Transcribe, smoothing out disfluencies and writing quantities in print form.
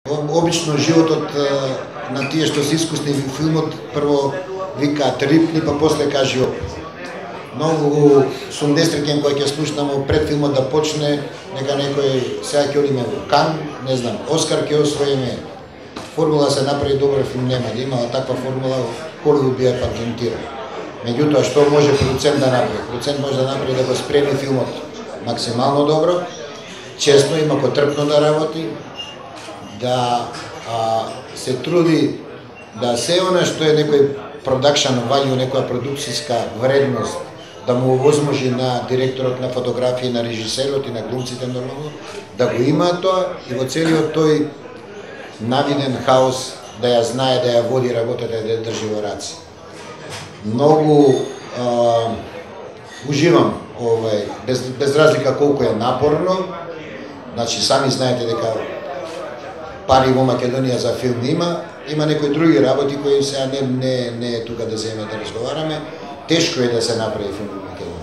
Обично животот на тие што се искусни во филмот прво викаат рипни, па после кажи опит. Многу сум несреќен кога ќе слушнам пред филмот да почне, нека некој сега ќе одиме во Кан, не знам, Оскар ќе освоиме. Формула се направи добар филм, нема да имала таква формула, Холивуд би ја патентирал. Меѓутоа, што може продуцент да направи? Продуцент може да направи да го спреми филмот максимално добро, честно и макотрпно да работи, да се труди да се она што е некој продакшн value, некоја продукцијска вредност, да му овозможи на директорот на фотографија, на режисерот и на глумците нормално, да го има тоа и во целиот тој навиден хаос да ја знае, да ја води работата и да ја држи во раце. Многу уживам без разлика колку е напорно. Значи сами знаете дека пари во Македонија за филм има некои други работи кои сега не е тука да земеме да разговараме. Тешко е да се направи филм во Македонија.